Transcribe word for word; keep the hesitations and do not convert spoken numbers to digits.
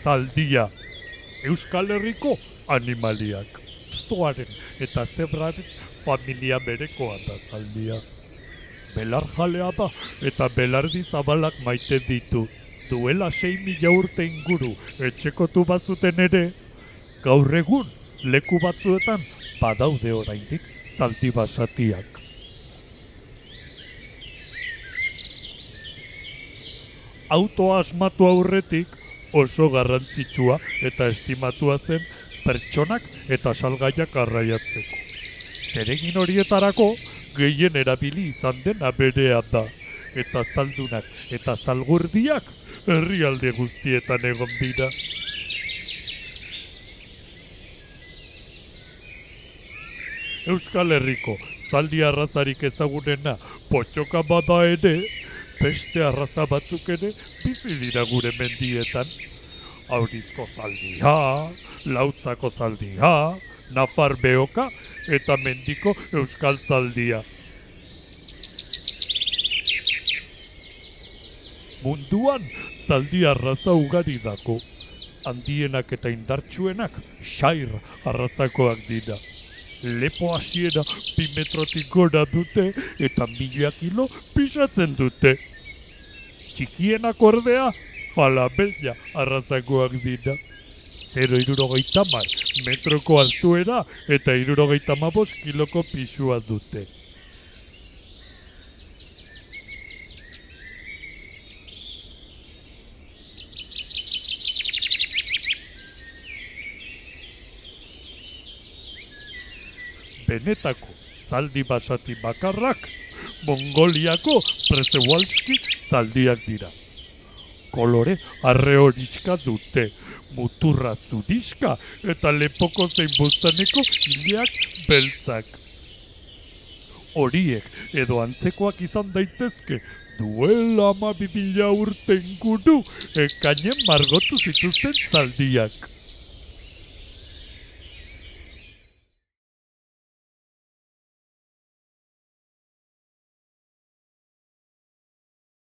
zaldia. Euskal Herriko animaliak. Stoaren eta zebraren familia berekoa da zaldia. Belar jalea da eta belardi zabalak maite ditu. Duela sei mila urte inguru etxekotu bazuten ere, gaur egun leku batzuetan badaude oraindik zaldi basatiak. Autoa asmatu aurretik oso garrantzitsua eta estimatua zen pertsonak eta salgaiak arraiatzeko. Zeregin horietarako gehien erabili izan dena berea da, eta zaldunak eta zalgurdiak herrialde guztietan egon dira. Euskal Herriko zaldi arrazarik ezagunena pottoka bada ere, beste arraza batzuk ere bizi dira gure mendietan. Aurizko zaldia, Lautzako zaldia, Nafar beoka eta mendiko euskal zaldia. Munduan zaldi arraza ugari dako. Handienak eta indartsuenak xair arrazakoak dira. Lepo hasiera bi metrotik gora dute eta mila kilo pisatzen dute. Txikienak ordea falabella arrazakoak dira. Zero hirurogeita hamar metroko altuera eta hirurogeita hamabost kiloko pisua dute. Benetako zaldi basati bakarrak Mongoliako Przewalski zaldiak dira. Kolore arre horitzka dute, muturra zuriska eta lepoko zein bustaneko ileak beltzak. Horiek edo antzekoak izan daitezke duela hamabi mila urte inguru ekainen margotu zituzten zaldiak.